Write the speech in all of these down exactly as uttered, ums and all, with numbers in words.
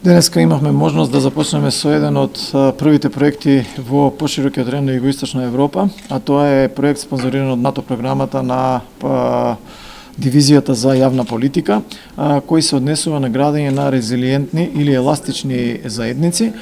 Денеска имавме можност да започнеме со еден од првите проекти во поширокиот район на Југоисточна Европа, а тоа е проект спонзориран од НАТО програмата на па, Дивизијата за јавна политика, кој се однесува на градење на резилиентни или еластични заедници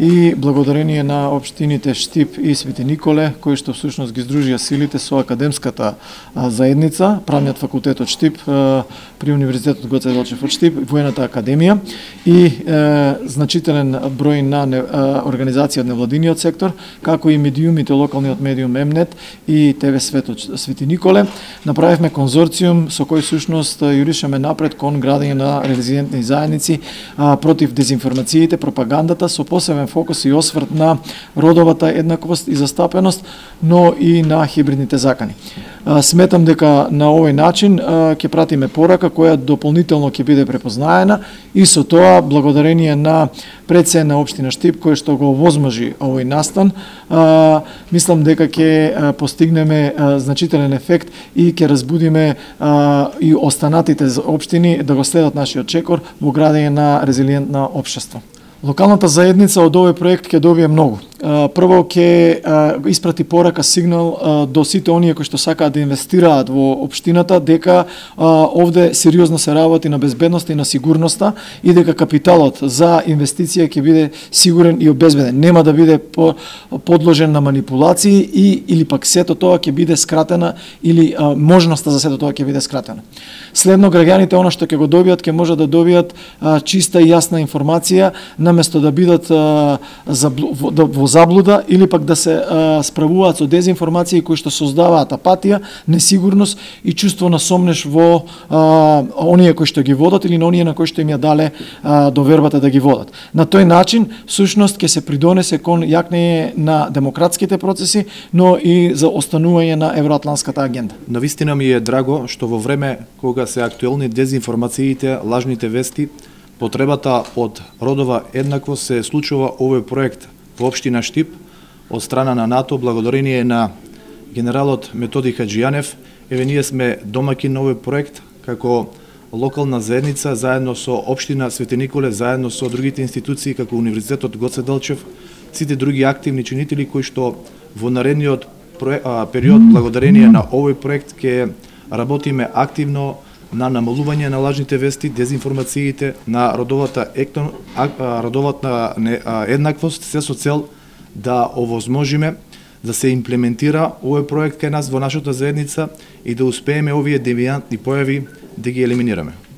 и благодарение на општините Штип и Свети Николе, кои што всушност ги здружија силите со академската заедница, правниот факултет од Штип при Универзитетот Гоце Делчев од Штип, Воената академија и е, значителен број на не, организации од невладиниот сектор, како и медиумите, локалниот медиум Емнет и ТВ Свет од Свети Николе, направивме конзорциум со кој всушност јуришаме напред кон градење на резилиентни заедници а, против дезинформациите, пропагандата, со посебен фокус и осврт на родовата еднаквост и застапеност, но и на хибридните закани. А, сметам дека на овој начин а, ќе пратиме порака која дополнително ќе биде препознаена и со тоа благодарение на председник на општина Штип кој што го овозможи овој настан, а, мислам дека ќе постигнеме а, значителен ефект и ќе разбудиме а, и останатите општини да го следат нашиот чекор во градење на резилиентна општество. Локалната заедница од овој проект ќе добие многу. Прво ќе испрати порака, сигнал до сите оние кои што сакаат да инвестираат во општината дека овде сериозно се работи на безбедноста и на сигурноста и дека капиталот за инвестиција ќе биде сигурен и обезбеден. Нема да биде подложен на манипулации и или пак сето тоа ќе биде скратена или можноста за сето тоа ќе биде скратена. Следно, граѓаните она што ќе го добијат ќе можат да добијат чиста и јасна информација наместо да бидат во заблуда или пак да се а, справуваат со дезинформации кои што создаваат апатија, несигурност и чувство на сомнеш во а, оние кои што ги водат или на оние на кои што им ја дале а, довербата да ги водат. На тој начин, всушност, ќе се придонесе кон јакнење на демократските процеси, но и за останување на евроатланската агенда. Навистина ми е драго што во време кога се актуелни дезинформациите, лажните вести, потребата од родова еднаквост се случува овој проект во општина Штип од страна на НАТО, благодарение на генералот Методи Хаджијанев. Еве ние сме домаќин на овој проект како локална заедница заедно со општина Свети Николе, заедно со другите институции како Универзитетот Гоце Делчев, сите други активни чинители кои што во наредниот период благодарение на овој проект ќе работиме активно на намалување на лажните вести, дезинформациите, на родовата ектон, родовата еднаквост, се со цел да овозможиме да се имплементира овој проект кај нас во нашата заедница и да успееме овие девијантни појави да ги елиминираме.